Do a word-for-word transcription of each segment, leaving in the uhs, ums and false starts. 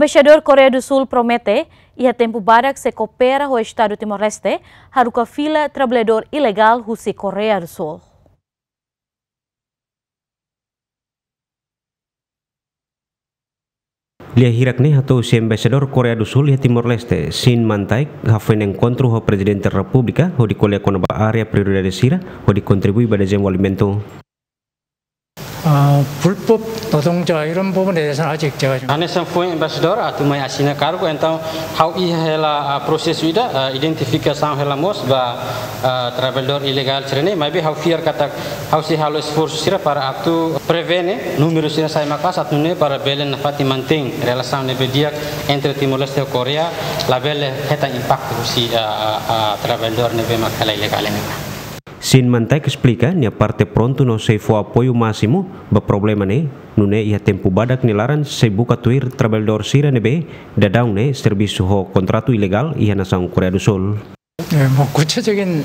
Embaixadór Koreia do Sul promete, iha tempu badak sei koopera ho Estadu Timor-Leste, haruka fila traballadór ilegál husi Koreia do Sul. Lia hirak ne'e hato'o husi Embaixadór Koreia do Sul iha Timor-Leste, Shin Man-taek, hafoin enkontru ho Prezidente Repúblika, hodi ko'alia kona-ba área prioridade sira, hodi kontribui ba dezenvolvimentu. 아, 불법 노동자 이런 부분에 대해서는 아직 제가 좀 Hanesan foin embaixadór atu mai asina kargu, entaun ha'u iha hela, ah, prosesu ida, ah, identifikasaun hela mós ba, ah, traballadór ilegál sira-ne'e, maibé ha'u fiar katak ha'u sei halo esforsu sira para atu prevene númeru sira sai maka'as atu nune'e para bele nafatin mantein relasaun ne'ebé di'ak entre Timor-Leste ho Koreia, labele hetan impaktu husi, ah, ah, ah, traballadór ne'ebé mak hela ilegál ne'e. Shin Man-taek esplika, nia parte prontu no sei fó apoiu másimu ba problema ne'e, nune'e iha tempu badak nia laran sei buka tuir traballadór sira ne'ebé daudaun ne'e servisu ho kontratu ilegál iha nasaun Koreia do Sul. 네, 뭐 구체적인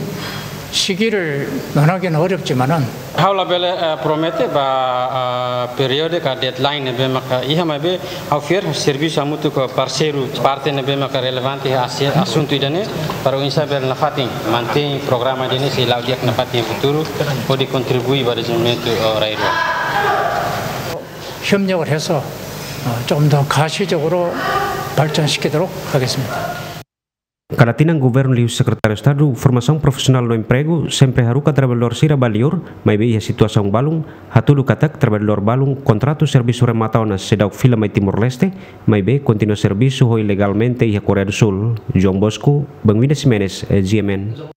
시기를 논하기는 어렵지만은 Ha'u labele, eh, promete ba, ah, períodu ka deadline ne'ebé maka iha, maibé ha'u fiar servisu hamutuk ho parseiru parte ne'ebé maka relevante iha asi-, asuntu ida-ne'e, para oinsá bele nafatin mantein programa ida-ne'e sei la'o di'ak nafatin iha futuru, hodi kontribui ba dezenvolvimentu, eh, rai-rua. 협력을 해서, 어, 좀 더 가시적으로 발전시키도록 하겠습니다. Kada tinan governu liuhusi Sekretáriu Estadu Formasaun Profisionál no Empregu sempre haruka traballadór sira ba liur, maibé iha situasaun balun, hatudu katak traballadór balun kontratu servisu remata ona seidauk fila mai Timor-Leste, maibé kontinua servisu ho ilegalmente iha Koreia do Sul. João Bosco, Benvinda Ximenes, eh, G M N.